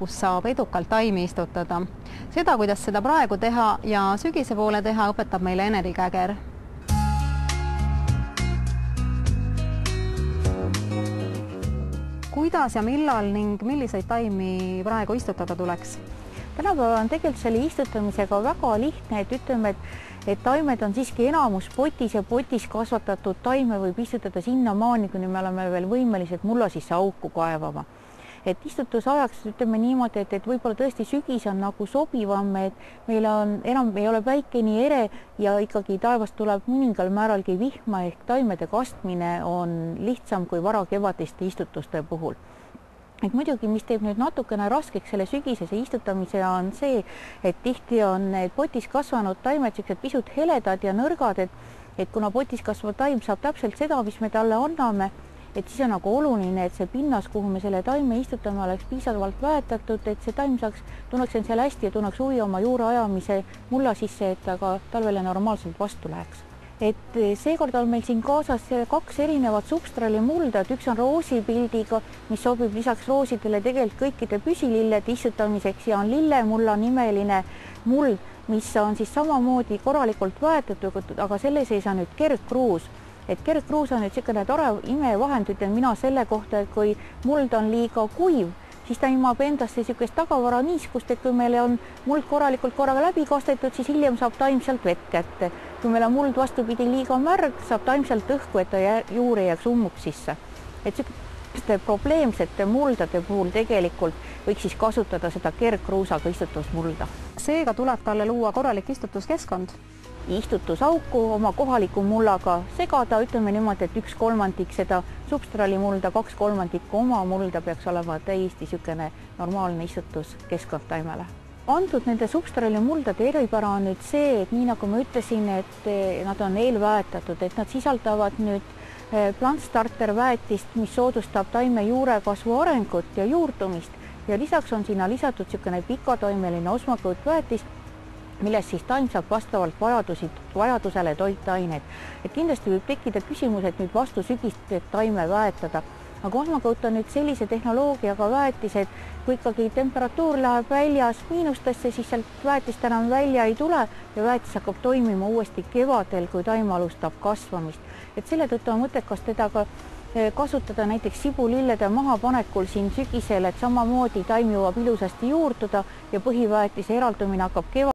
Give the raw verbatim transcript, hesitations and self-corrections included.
kus saab edukalt taimi istutada. Seda, kuidas seda praegu teha ja sügise poole teha, õpetab meile Eneri Käger. Kuidas ja millal ning milliseid taimi praegu istutada tuleks? Tänapäeval on tegelikult selle istutamisega väga lihtne, et ütleme, et, et taimed on siiski enamus potis ja potis kasvatatud taime võib istutada sinnamaani, kuni me oleme veel võimelised mulla sisse auku kaevama. Et istutusajaks ütleme niimoodi, et, et võib-olla tõesti sügis on nagu sobivam, et meil on enam ei ole päike nii ere ja ikkagi taevast tuleb mõningal määralgi vihma ehk taimede kastmine on lihtsam kui varakevadiste istutuste puhul. Et muidugi, mis teeb nüüd natukene raskeks selle sügisese istutamise, on see, et tihti on need potis kasvanud taimed siuksed pisut heledad ja nõrgad, et, et kuna potis kasvav taim saab täpselt seda, mis me talle anname, et siis on nagu oluline, et see pinnas, kuhu me selle taime istutame, oleks piisavalt väetatud, et see taim saaks, tunneks end seal hästi ja tunneks huvi oma juure ajamise mulla sisse, et ta ka talvele normaalselt vastu läheks. Et seekord on meil siin kaasas kaks erinevat substraalimulda, et üks on roosipildiga, mis sobib lisaks roosidele tegelikult kõikide püsilillede istutamiseks ja on lillemulla nimeline muld, mis on siis samamoodi korralikult väetatud, aga selle sees on nüüd kergkruus. Et kergkruus on nüüd selline tore imevahend, ütlen mina selle kohta, et kui muld on liiga kuiv, siis ta imab endasse niisugust tagavara niiskust, et kui meil on muld korralikult korraga läbi kastetud, siis hiljem saab taim sealt vett kätte. Kui meil on muld vastupidi liiga märg, saab taim sealt õhku, et ta juurde jääks ummuk sisse. Et niisuguste probleemsete muldade puhul tegelikult võiks siis kasutada seda kergkruusaga istutusmulda. Seega tuleb talle luua korralik istutuskeskkond. Istutusauku oma kohaliku mullaga segada, ütleme niimoodi, et üks kolmandik seda substraalimulda, kaks kolmandikku oma mulda peaks olema täiesti niisugune normaalne istutuskeskkond taimele. Antud nende substraalimuldade eripära on nüüd see, et nii nagu ma ütlesin, et nad on eelväetatud, et nad sisaldavad nüüd plantstarterväetist, mis soodustab taime juurekasvu arengut ja juurdumist ja lisaks on sinna lisatud niisugune pikatoimeline osmakõutväetis, millest siis taim saab vastavalt vajadusi, vajadusele toitained. Et kindlasti võib tekkida küsimus, et nüüd vastu sügist taime väetada. Aga osmakõut on nüüd sellise tehnoloogiaga väetis, et kui ikkagi temperatuur läheb väljas miinustesse, siis sealt väetist enam välja ei tule ja väetis hakkab toimima uuesti kevadel, kui taim alustab kasvamist. Et selle tõttu on mõttekas teda ka kasutada näiteks sibulillede mahapanekul siin sügisel, et samamoodi taim jõuab ilusasti juurduda ja põhiväetise eraldumine hakkab kevadel.